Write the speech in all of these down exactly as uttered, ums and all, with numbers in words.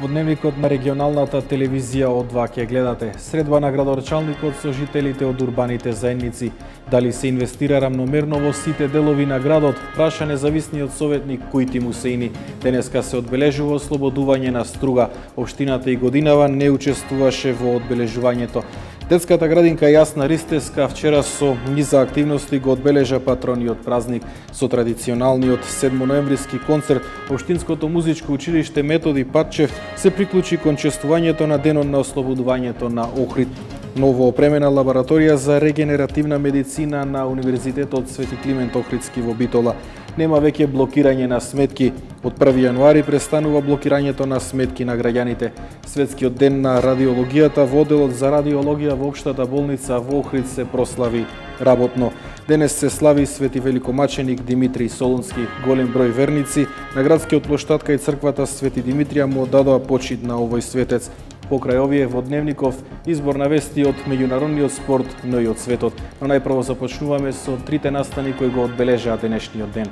Во дневникот на регионалната телевизија О два ќе гледате средба на градоначалникот со жителите од урбаните заедници, дали се инвестира рамномерно во сите делови на градот, праша независниот советник Кујти Мусеини. Денеска се одбележува ослободување на струга. Општината и годинава не учествуваше во одбележувањето. Детската градинка Јасна Ристеска вчера со низа активности го одбележа патрониот празник. Со традиционалниот седмоноемвриски концерт, Општинското музичко училиште Методи Патчев се приклучи кон чествувањето на денот на ослободувањето на Охрид. Ново опремена лабораторија за регенеративна медицина на Универзитетот Свети Климент Охридски во Битола. Нема веќе блокирање на сметки. Од први јануари престанува блокирањето на сметки на граѓаните. Светскиот ден на радиологијата во одделот за радиологија во Општата болница во Охрид се прослави работно. Денес се слави Свети великомаченик Димитрий Солунски. Голем број верници на градскиот плоштад кај црквата Свети Димитрија му дадоа почит на овој светец. Покрај овие во дневников избор на вести од меѓународниот спорт, но и од светот. Но најпрво започнуваме со трите настани кои го одбележаа денешниот ден.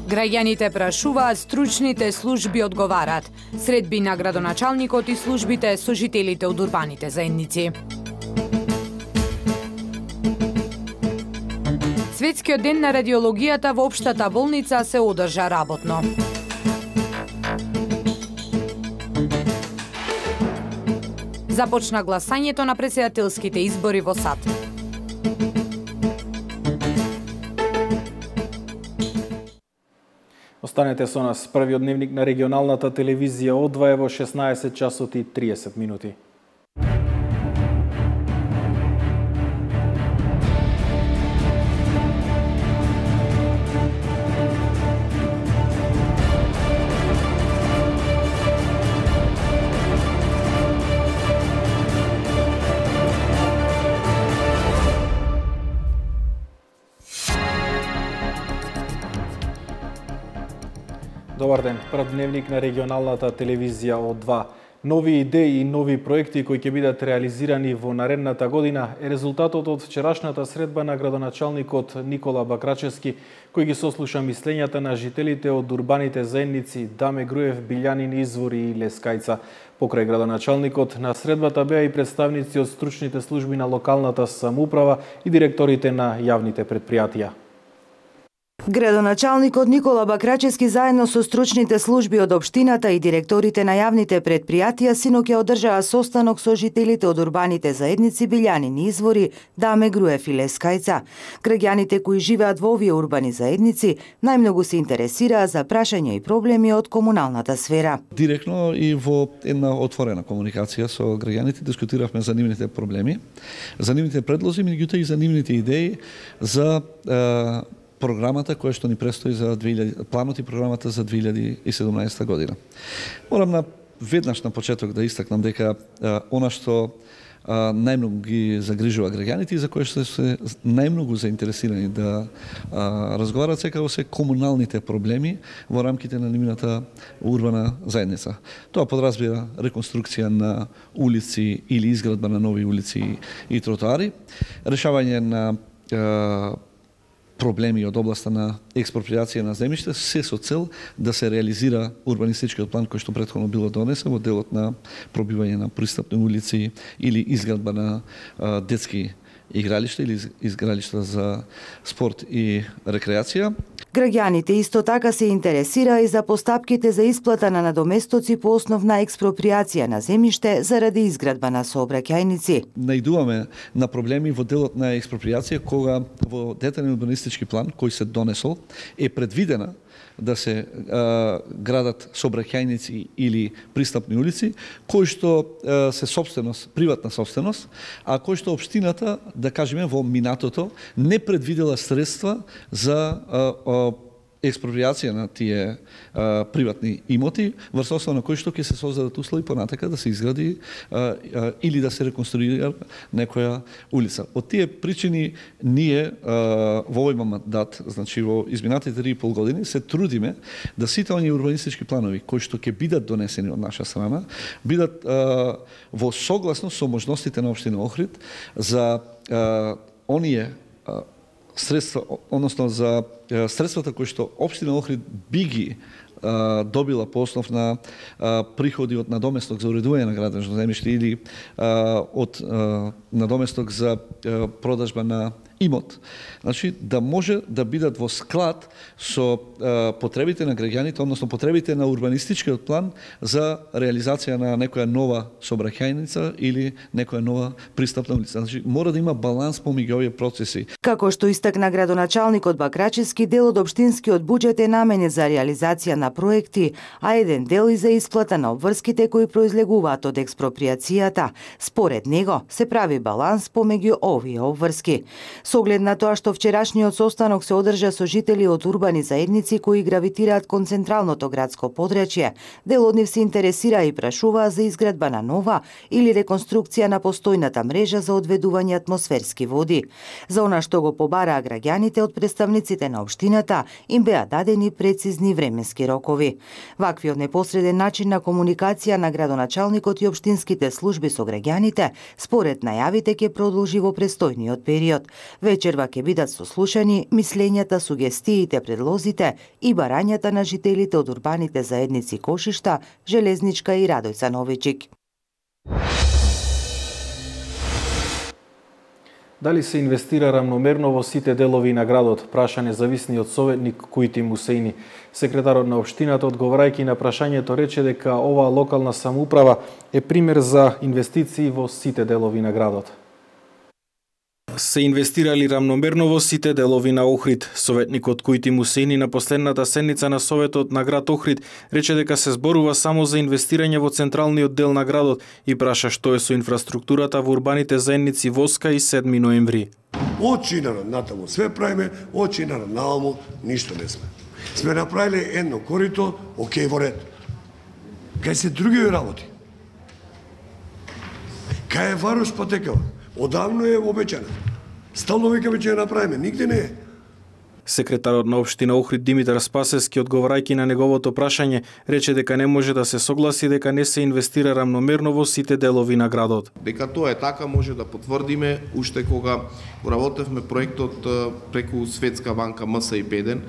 Граѓаните прашуваат, стручните служби одговараат. Средби на градоначалникот и службите со жителите од урбаните заедници. Светскиот ден на радиологијата во Општата болница се одржа работно. Започна гласањето на претседателските избори во САД. Останете со нас. Првиот дневник на регионалната телевизија О два е во шеснаесет часот и триесет минути. Добар ден. Прв дневник на регионалната телевизија О два. Нови идеи и нови проекти кои ќе бидат реализирани во наредната година е резултатот од вчерашната средба на градоначалникот Никола Бакрачевски, кој ги сослуша мислењата на жителите од урбаните заедници Даме Груев, Билјанин Извори и Лескајца. Покрај градоначалникот на средбата беа и представници од стручните служби на локалната самоуправа и директорите на јавните претпријатија. Градоначалникот Никола Бакрачевски заедно со стручните служби од општината и директорите на јавните претпријатија синоќа одржаа состанок со жителите од урбаните заедници Билјанин Извори, Даме Груев и Лескајца. Граѓаните кои живеат во овие урбани заедници најмногу се интересираа за прашања и проблеми од комуналната сфера. Директно и во една отворена комуникација со граѓаните дискутиравме за нивните проблеми, за нивните предлози, меѓутоа и за нивните идеи за е, програмата која што ни престои за две илјади, планот и програмата за две илјади и седумнаесета година. Морам на веднаш на почеток да истакнам дека а, она што а, најмногу ги загрижува граѓаните и за кои што се најмногу заинтересирани да а, разговарат секако се комуналните проблеми во рамките на нивната урбана заедница. Тоа подразбира реконструкција на улици или изградба на нови улици и тротоари, решавање на а, проблеми од областа на експроприација на земјиште, се со цел да се реализира урбанистичкиот план кој што претходно било донесен во делот на пробивање на пристапни улици или изградба на а, детски игралишта или изгралишта за спорт и рекреација. Граѓаните исто така се интересира и за постапките за исплата на надоместоци по основ на експроприација на земјиште заради изградба на сообраќајници. Најдуваме на проблеми во делот на експроприација кога во детален урбанистички план кој се донесол е предвидена да се а, градат сообраќајници или пристапни улици, кои што а, се собственост, приватна собственост, а кои што општината, да кажеме, во минатото не предвидела средства за а, а, експроприација на тие а, приватни имоти, врз основа на кои што ќе се создадат услови понатака да се изгради а, а, или да се реконструира некоја улица. Од тие причини ние а, во овој мандат, значи во изминатите три и пол години, се трудиме да сите оние урбанистички планови кои што ќе бидат донесени од наша страна, бидат а, во согласност со можностите на општина Охрид за а, оние а, средства, односно за средствата кои што општина Охрид би ги добила по основ на приходи од надоместок за уредување на градежно земјиште или од надоместок за продажба на имот. Значи, да може да бидат во склад со е, потребите на граѓаните, односно потребите на урбанистичкиот план за реализација на некоја нова сообраќајница или некоја нова пристапна улица. Значи, мора да има баланс помеѓу овие процеси. Како што истакна градоначалникот Бакрачевски, дел од општинскиот буџет е наменет за реализација на проекти, а еден дел и за исплата на обврските кои произлегуваат од експроприацијата. Според него се прави баланс помеѓу овие обврски. Со оглед на тоа што вчерашниот состанок се одржа со жители од урбани заедници кои гравитираат кон централното градско подрачје, дел од нив се интересира и прашуваа за изградба на нова или реконструкција на постојната мрежа за одведување атмосферски води. За она што го побараа граѓаните од представниците на општината, им беа дадени прецизни временски рокови. Ваквиот непосреден начин на комуникација на градоначалникот и општинските служби со граѓаните, според најавите, ќе продолжи во престојниот период. Вечерва ќе бидат сослушани мислењата, сугестиите, предлозите и барањата на жителите од урбаните заедници Кошишта, Железничка и Радојца Новичик. Дали се инвестира рамномерно во сите делови на градот, праша независниот советник Кујти Мусејни. Секретарот на општината, одговарајќи на прашањето, рече дека оваа локална самоуправа е пример за инвестиции во сите делови на градот. Се инвестирали рамномерно во сите делови на Охрид. Советникот Кујти Мусејни на последната седница на Советот на град Охрид рече дека се зборува само за инвестирање во централниот дел на градот и праша што е со инфраструктурата во урбаните заедници Воска и седми ноември. Од Чинарот натаму све правиме, од Чинарот нааму ништо не сме. Сме направиле едно корито, окей, во ред. Кај се други работи? Кај е Варуш патекава? Одавно е обеќана. Стално викаме ќе ја направиме, нигде не е. Секретарот на општина Охрид Димитар Спасевски, одговарајќи на неговото прашање, рече дека не може да се согласи дека не се инвестира рамномерно во сите делови на градот. Дека тоа е така може да потврдиме уште кога работевме проектот преку Светска банка М С И Беден.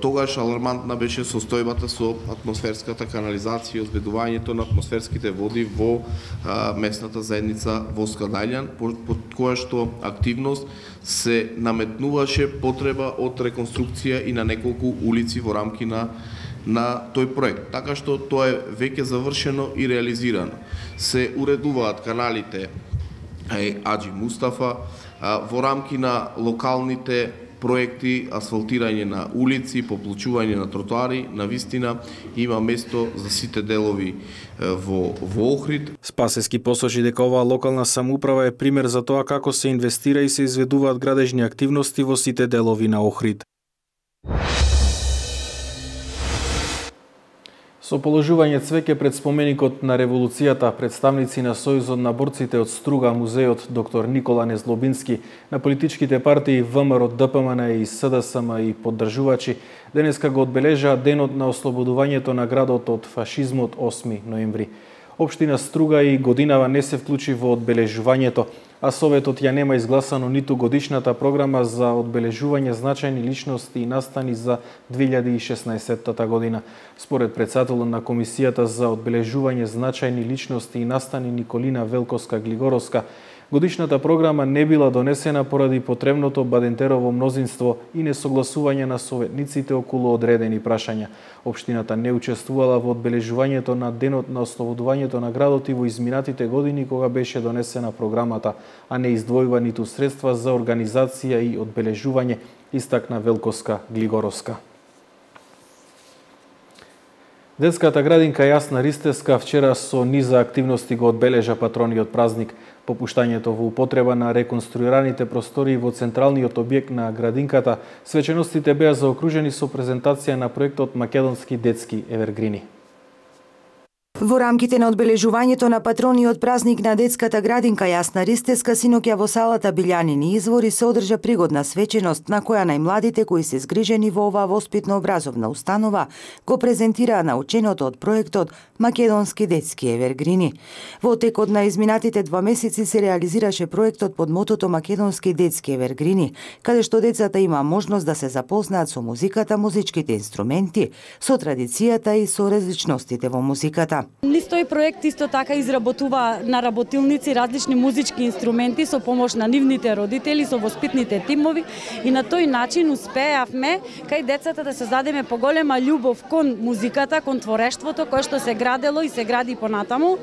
Тогаш алармантна беше состојбата со атмосферската канализација и одведувањето на атмосферските води во а, местната заедница Воска Дајлјан, под која што активност се наметнуваше потреба од реконструкција и на неколку улици во рамки на на тој проект. Така што тоа е веќе завршено и реализирано. Се уредуваат каналите Аџи Мустафа а, во рамки на локалните проекти, асфалтирање на улици, поплучување на тротоари, на вистина има место за сите делови во, во Охрид. Спасевски посочи дека оваа локална самоуправа е пример за тоа како се инвестира и се изведуваат градежни активности во сите делови на Охрид. Со положување цвеќе пред споменикот на револуцијата, представници на Сојузот на борците од Струга, музеот доктор Никола Незлобински, на политичките партии ВМРО, Д П М Н и С Д С М и поддржувачи, денеска го одбележаа денот на ослободувањето на градот од фашизмот осми ноември. Општина Струга и годинава не се вклучи во одбележувањето, а Советот ја нема изгласано ниту годишната програма за одбележување значајни личности и настани за две илјади и шеснаесетта година. Според претседателот на Комисијата за одбележување значајни личности и настани Николина Велковска-Глигоровска, годишната програма не била донесена поради потребното бадентерово мнозинство и несогласување на советниците околу одредени прашања. Општината не учествувала во одбележувањето на денот на ослободувањето на градот и во изминатите години кога беше донесена програмата, а не издвојува ниту средства за организација и одбележување, истакна Велковска-Глигоровска. Детската градинка Јасна Ристевска вчера со низа активности го одбележа патрониот празник. Попуштањето во употреба на реконструираните простори во централниот објект на градинката, свеченостите беа заокружени со презентација на проектот Македонски детски евергрини. Во рамките на одбележувањето на патрониот празник на детската градинка Јасна Ристеска, синоќа во салата Билјанини извори се одржа пригодна свеченост на која најмладите кои се згрижени во оваа воспитно-образовна установа го презентираа наученото од проектот Македонски детски евергрини. Во текот на изминатите два месеци се реализираше проектот под мотото Македонски детски евергрини, каде што децата има можност да се запознаат со музиката, музичките инструменти, со традицијата и со различностите во музиката. Низ тој проект исто така изработува на работилници различни музички инструменти со помош на нивните родители, со воспитните тимови и на тој начин успеавме кај децата да создадеме поголема љубов кон музиката, кон творештвото кое што се градело и се гради понатаму.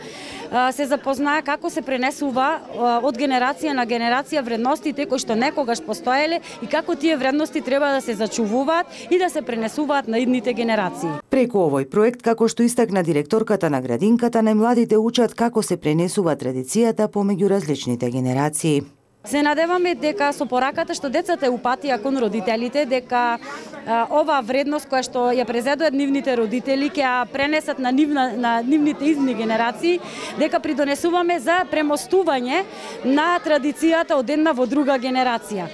Се запознаа како се пренесува од генерација на генерација вредностите кои што некогаш постоеле и како тие вредности треба да се зачувуваат и да се пренесуваат на идните генерации. Преку овој проект, како што истакна директорката на градинката, најмладите учат како се пренесува традицијата помеѓу различните генерации. Се надеваме дека со пораката што децата упатија кон родителите, дека а, ова вредност која што ја презедоа нивните родители ќе ја пренесат на, нивна, на нивните идни генерации, дека придонесуваме за премостување на традицијата од една во друга генерација.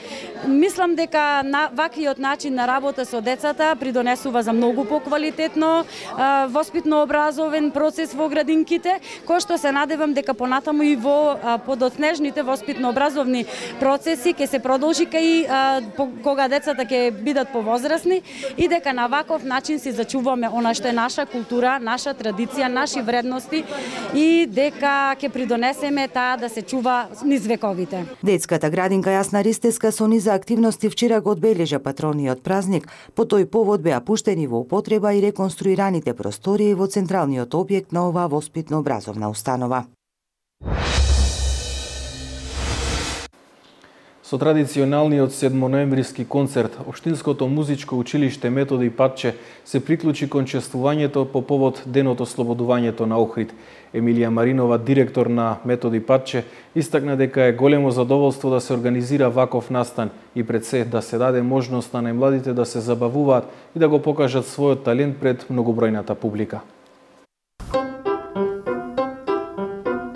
Мислам дека на ваквиот начин на работа со децата придонесува за многу поквалитетно воспитно-образовен процес во градинките, кој што се надевам дека понатаму и во а, подоцнежните воспитно-образовни процеси ќе се продолжи кај а, по, кога децата ќе бидат повозрасни и дека на ваков начин си зачуваме она што е наша култура, наша традиција, наши вредности и дека ќе придонесеме таа да се чува низ вековите. Детската градинка Јасна Ристеска со низа активности вчера го одбележа патрониот празник. По тој повод беа пуштени во употреба и реконструираните простории во централниот објект на оваа воспитно-образовна установа. Со традиционалниот седмоноемвриски концерт, Општинското музичко училиште Методи Патче се приклучи кон чествувањето по повод Денот ослободувањето на Охрид. Емилија Маринова, директор на Методи Патче, истакна дека е големо задоволство да се организира ваков настан и пред се да се даде можност на најмладите да се забавуваат и да го покажат својот талент пред многобројната публика.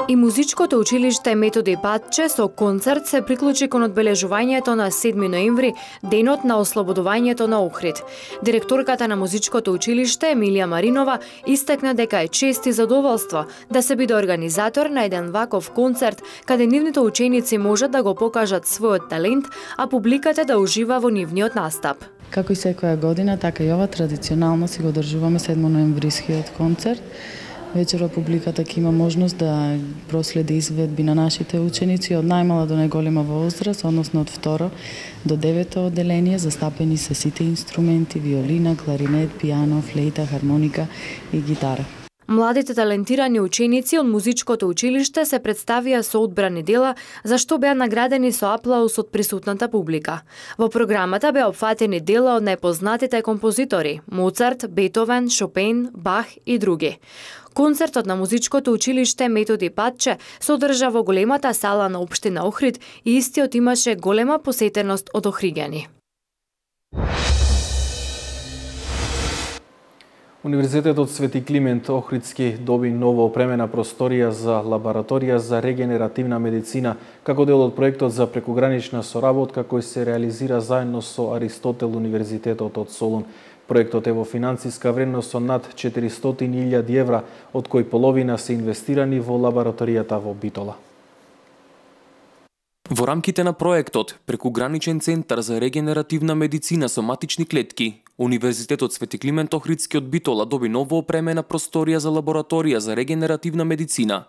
И музичкото училиште Методи Патче со концерт се приклучи кон одбележувањето на седми ноември, денот на ослободувањето на Охрид. Директорката на музичкото училиште Емилија Маринова истакна дека е чест и задоволство да се биде организатор на еден ваков концерт каде нивните ученици можат да го покажат својот талент, а публиката да ужива во нивниот настап. Како и секоја година, така и ова традиционално си го одржуваме седмоноемврискиот концерт. Вечерва публиката ќе има можност да проследи изведби на нашите ученици од најмала до најголема возраст, односно од второ до девето одделение, застапени се сите инструменти, виолина, кларинет, пијано, флейта, хармоника и гитара. Младите талентирани ученици од музичкото училиште се представија со одбрани дела, за што беа наградени со аплауз од присутната публика. Во програмата беа опфатени дела од најпознатите композитори – Моцарт, Бетовен, Шопен, Бах и други. Концертот на музичкото училиште Методи Патче се одржа во големата сала на општина Охрид и истиот имаше голема посетеност од охриѓани. Универзитетот Свети Климент Охридски доби ново опремена просторија за лабораторија за регенеративна медицина како дел од проектот за прекугранична соработка кој се реализира заедно со Аристотел Универзитетот од Солун. Проектот е во финансиска вредност со над четиристотини илјади евра, од кои половина се инвестирани во лабораторијата во Битола. Во рамките на проектот Прекуграничен центар за регенеративна медицина со матични клетки, Универзитетот Свети Климент Охридски од Битола доби ново опремена просторија за лабораторија за регенеративна медицина.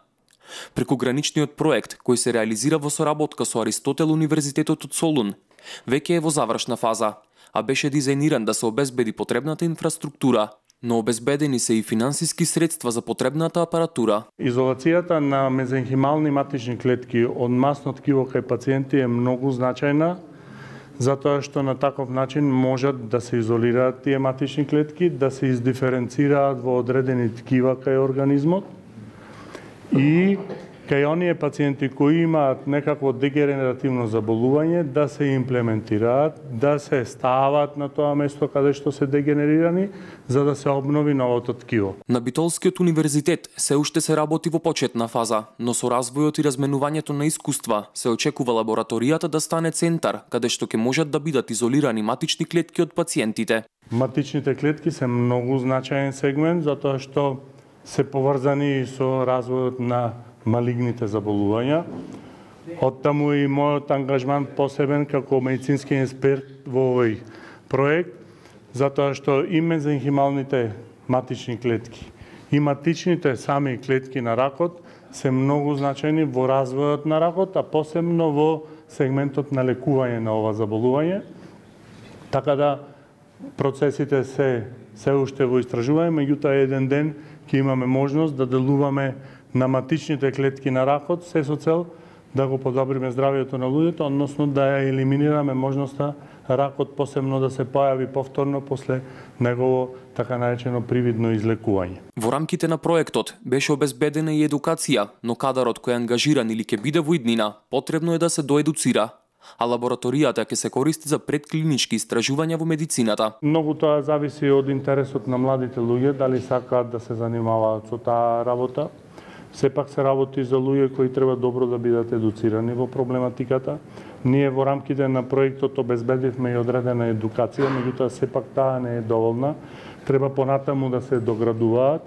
Прекуграничниот проект, кој се реализира во соработка со Аристотел Универзитетот од Солун, веќе е во завршна фаза, а беше дизајниран да се обезбеди потребната инфраструктура, но обезбедени се и финансиски средства за потребната апаратура. Изолацијата на мезенхимални матични клетки од масно ткиво кај пациенти е многу значајна, затоа што на таков начин можат да се изолираат тие матични клетки, да се издиференцираат во одредени ткива кај организмот и кај оние пациенти кои имаат некакво дегенеративно заболување да се имплементираат, да се стават на тоа место каде што се дегенерирани, за да се обнови новото ткиво. На Битолскиот универзитет се уште се работи во почетна фаза, но со развојот и разменувањето на искуства се очекува лабораторијата да стане центар каде што ќе можат да бидат изолирани матични клетки од пациентите. Матичните клетки се многу значаен сегмент затоа што се поврзани со развојот на малигните заболувања. Оттаму и мојот ангажман посебен како медицински експерт во овој проект, затоа што и мезенхималните матични клетки и матичните сами клетки на ракот се многу значајни во развојот на ракот, а посебно во сегментот на лекување на ова заболување. Така да процесите се се уште во истражување, меѓутоа еден ден ќе имаме можност да делуваме на матичните клетки на ракот, се со цел да го подобриме здравјето на луѓето, односно да ја елиминираме можноста ракот посебно да се појави повторно после негово така наречено привидно излекување. Во рамките на проектот беше обезбедена и едукација, но кадарот кој е ангажиран или ќе биде во иднина, потребно е да се доедуцира, а лабораторијата ќе се користи за предклинички истражувања во медицината. Многу тоа зависи од интересот на младите луѓе, дали сакаат да се занимаваат со таа работа. Сепак се работи за луѓе кои треба добро да бидат едуцирани во проблематиката. Ние во рамките на проектот обезбедивме и одредена едукација, меѓутоа сепак таа не е доволна. Треба понатаму да се доградуваат.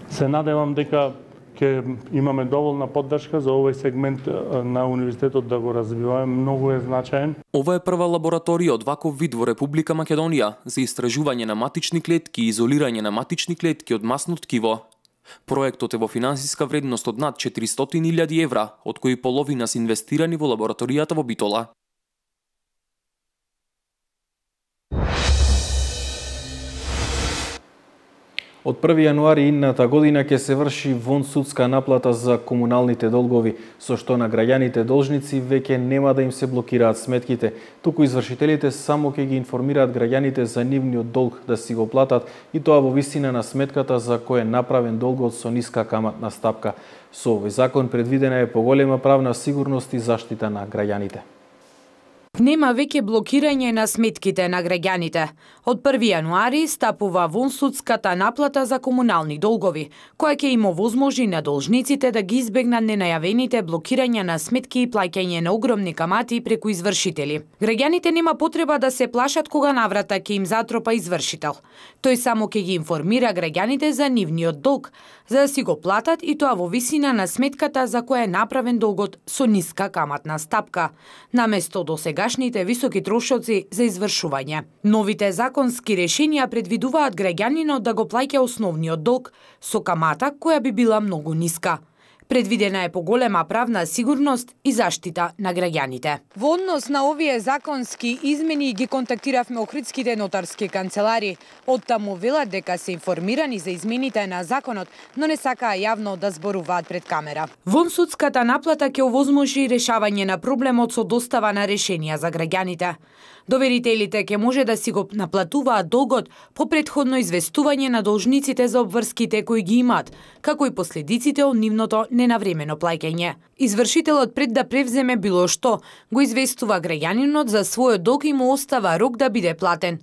Се надевам дека ќе имаме доволна поддршка за овој сегмент на универзитетот да го развиваме, многу е значаен. Ова е прва лабораторија од ваков вид во Република Македонија за истражување на матични клетки и изолирање на матични клетки од масно ткиво. Проектот е во финансиска вредност од над четиристотини илјади евра, од кои половина се инвестирани во лабораторијата во Битола. Од први јануари идната година ќе се врши вонсудска наплата за комуналните долгови, со што на граѓаните должници веќе нема да им се блокираат сметките, туку извршителите само ќе ги информираат граѓаните за нивниот долг да си го платат, и тоа во висина на сметката за кој е направен долгот со ниска каматна стапка. Со овој закон предвидена е поголема правна сигурност и заштита на граѓаните. Нема веќе блокирање на сметките на граѓаните. Од први јануари стапува вонсудската наплата за комунални долгови, која ќе им овозможи на должниците да ги избегнат ненајавените блокирања на сметки и плаќање на огромни камати преку извршители. Граѓаните нема потреба да се плашат кога наврата ќе им затропа извршител. Тој само ќе ги информира граѓаните за нивниот долг, за да си го платат, и тоа во висина на сметката за која е направен долгот со ниска каматна стапка, наместо досегашните високи трошоци за извршување. Новите законски решенија предвидуваат граѓанинот да го плаќа основниот долг со камата која би била многу ниска. Предвидена е поголема правна сигурност и заштита на граѓаните. Во однос на овие законски измени ги контактиравме охридските нотарски канцелари. Оттаму велат дека се информирани за измените на законот, но не сакаа јавно да зборуваат пред камера. Вонсудската наплата ќе овозможи решавање на проблемот со достава на решенија за граѓаните. Доверителите ќе може да си го наплатуваат долгот по предходно известување на должниците за обврските кои ги имаат, како и последиците од нивното ненавремено плаќање. Извршителот пред да превземе било што, го известува граѓанинот за својот долг и му остава рок да биде платен.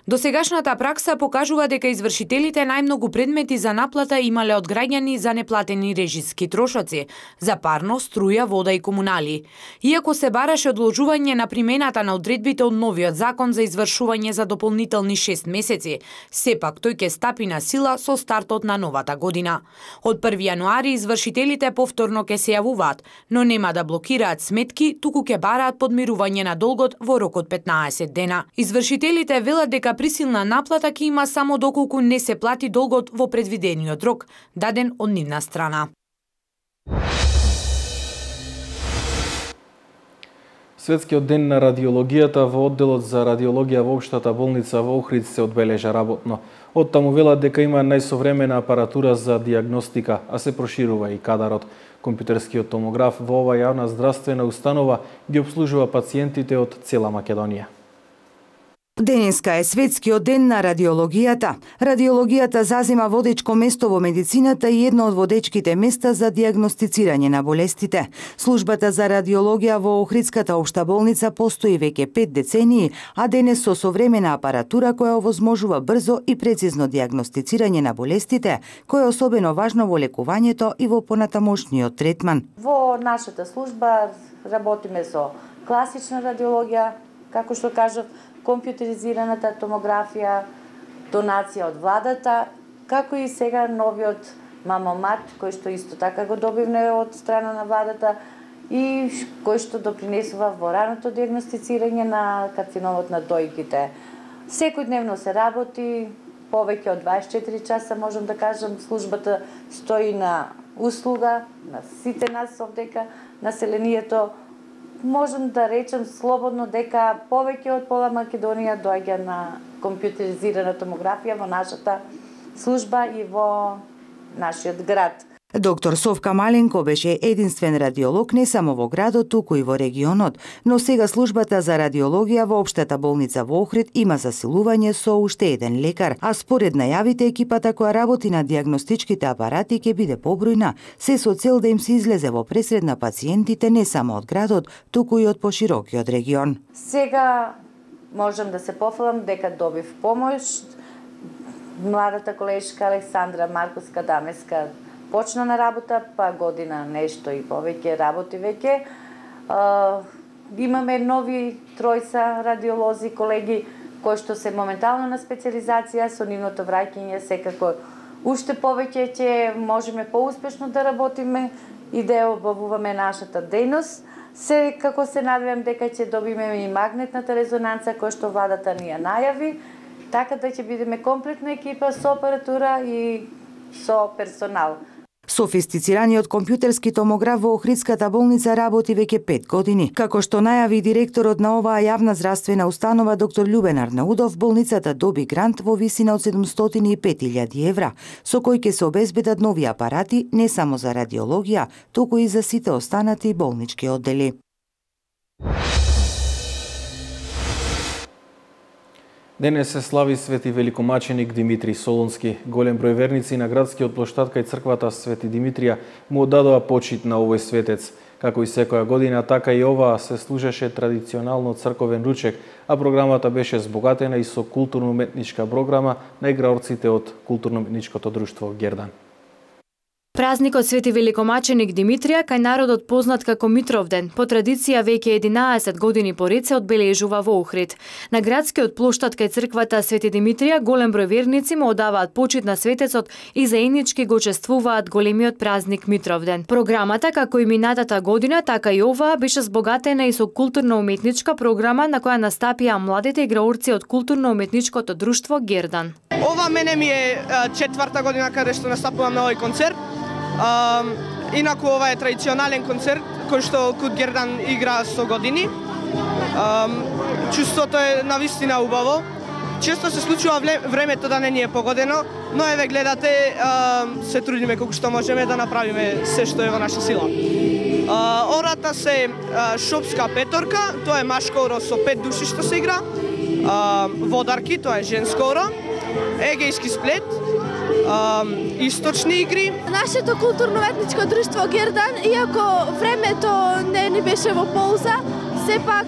Досегашната пракса покажува дека извршителите најмногу предмети за наплата имале од граѓани за неплатени режиски трошоци, за парно, струја, вода и комунали. Иако се бараше одложување на примената на одредбите од новиот закон за извршување за дополнителни шест месеци, сепак тој ќе стапи на сила со стартот на новата година. Од први јануари извршителите повторно ќе се јавуваат, но нема да блокираат сметки, туку ќе бараат подмирување на долгот во рок од петнаесет дена. Извршителите велат дека присилна наплата ќе има само доколку не се плати долгот во предвидениот рок, даден од нивна страна. Светскиот ден на радиологијата во одделот за радиологија во општата болница во Охрид се одбележа работно. Оттаму велат дека има најсовремена апаратура за диагностика, а се проширува и кадарот. Компјутерскиот томограф во ова јавна здравствена установа ги обслужува пациентите од цела Македонија. Денеска е светскиот ден на радиологијата. Радиологијата зазема водечко место во медицината и едно од водечките места за дијагностицирање на болестите. Службата за радиологија во Охридската општа болница постои веќе пет децении, а денес со современа апаратура која овозможува брзо и прецизно дијагностицирање на болестите, кој е особено важно во лекувањето и во понатамошниот третман. Во нашата служба работиме со класична радиологија, како што кажав, компјутеризираната томографија, донација од владата, како и сега новиот мамомат, кој што исто така го добивме од страна на владата и кој што допринесува во раното дијагностицирање на карциномот на дојките. Секојдневно се работи, повеќе од дваесет и четири часа, можам да кажам, службата стои на услуга на сите нас овдека, населението. Можам да речем слободно дека повеќе од пола Македонија доаѓа на компјутеризирана томографија во нашата служба и во нашиот град. Доктор Совка Маленко беше единствен радиолог не само во градот, туку и во регионот, но сега службата за радиологија во општата болница во Охрид има засилување со уште еден лекар, а според најавите екипата која работи на дијагностичките апарати ќе биде побројна, се со цел да им се излезе во пресред на пациентите не само од градот, туку и од поширокиот регион. Сега можам да се пофалам дека добив помош. Младата колешка Александра Марковска Дамеска почна на работа, па година нешто и повеќе работи веќе. Uh, имаме нови тројца радиолози, колеги, кои што се моментално на специализација, со нивното враќање секако уште повеќе ќе можеме поуспешно да работиме и да обавуваме нашата дејност. Секако се надевам дека ќе добиме и магнетната резонанца која што владата ни ја најави, така да ќе бидеме комплетна екипа со апаратура и со персонал. Софистицираниот компјутерски томограф во Охридската болница работи веќе пет години. Како што најави директорот на оваа јавна здравствена установа доктор Љубен Арнаудов, болницата доби грант во висина од седумстотини и пет илјади евра, со кој ќе се обезбедат нови апарати не само за радиологија, туку и за сите останати болнички оддели. Денес се слави свети великомаченик Димитри Солунски. Голем број верници на градскиот плоштад кај црквата Свети Димитрија му оддадоа почит на овој светец. Како и секоја година, така и оваа се служеше традиционално црковен ручек, а програмата беше збогатена и со културно-уметничка програма на играорците од културно-уметничкото друштво Гердан. Празникот Свети Великомаченик Димитрија, кај народот познат како Митровден, по традиција веќе единаесет години поред се одбележува во Охрид. На градскиот плоштад кај црквата Свети Димитрија голем број верници му одаваат почит на светецот и заеднички го чествуваат големиот празник Митровден. Програмата, како и минатата година, така и оваа беше збогатена и со културно-уметничка програма на која настапија младите играорци од културно-уметничкото друштво Гердан. Ова мене ми е четврта година каде што настапувам на овој концерт. Uh, инаку ова е традиционален концерт кој што Кут Гердан игра сто години. Uh, чувството е навистина убаво. Често се случува времето да не ни е погодено, но еве гледате, uh, се трудиме колку што можеме да направиме се што е во наша сила. Uh, ората се uh, шопска петорка, тоа е машко оро со пет души што се игра. Uh, водарки, тоа е женско оро. Егејски сплет. Um, источни игри. Нашето културно-уметничко друштво Гердан, иако времето не ни беше во полза, сепак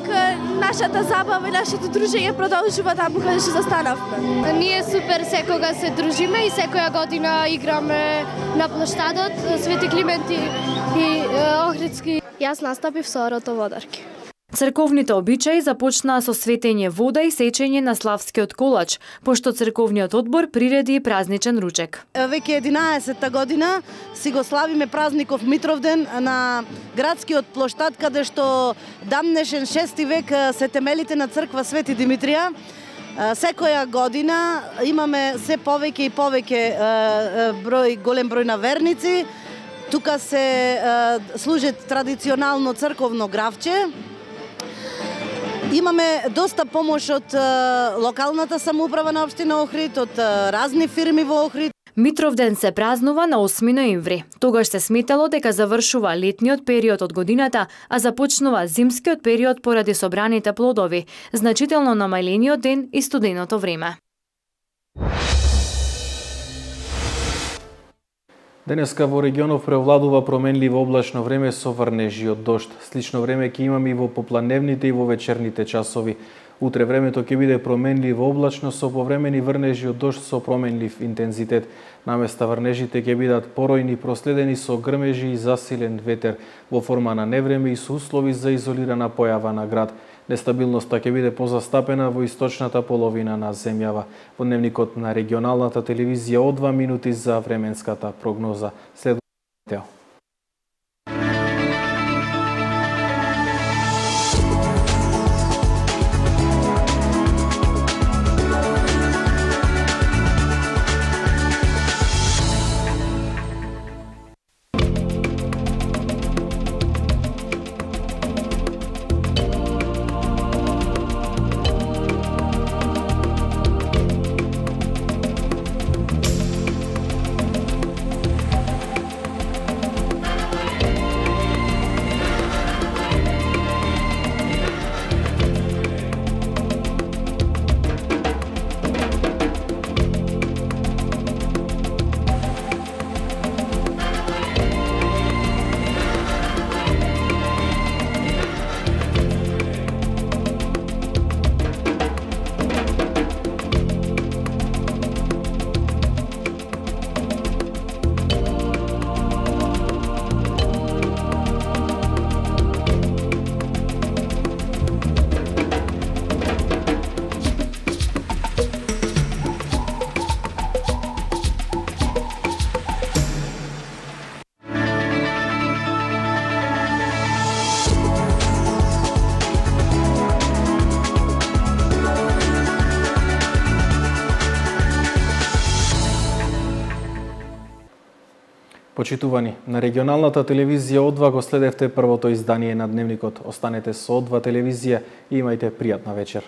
нашата забава и нашето дружење продолжува таму каде што застанавме. Ние супер секога се дружиме и секоја година играме на плоштадот Свети Климент и, и Охридски. Јас настапив со орото водарки. Црковните обичаи започнаа со светење вода и сечење на славскиот колач, пошто црковниот одбор приреди и празничен ручек. Веќе единаесетта година си го славиме празников Митровден на градскиот плоштад, каде што дамнешен шести век се темелите на црква Свети Димитрија. Секоја година имаме се повеќе и повеќе број, голем број на верници. Тука се служи традиционално црковно гравче. Имаме доста помош од локалната самоуправа на општина Охрид, од разни фирми во Охрид. Митровден се празнува на осми ноември. Тогаш се сметало дека завршува летниот период од годината, а започнува зимскиот период поради собраните плодови, значително намалениот ден и студеното време. Денеска во регионов преовладува променливо облачно време со врнежи од дожд. Слично време ќе имаме и во попланевните и во вечерните часови. Утре времето ќе биде променливо облачно со повремени врнежи од дожд со променлив интензитет. Наместа врнежите ќе бидат поројни, проследени со грмежи и засилен ветер во форма на невреме и со услови за изолирана појава на град. Нестабилноста ќе биде позастапена во источната половина на земјава. Во дневникот на регионалната телевизија од два минути за временската прогноза. Следува метео. Почитувани, на регионалната телевизија О два го следевте првото издание на Дневникот. Останете со О два телевизија и имајте пријатна вечер.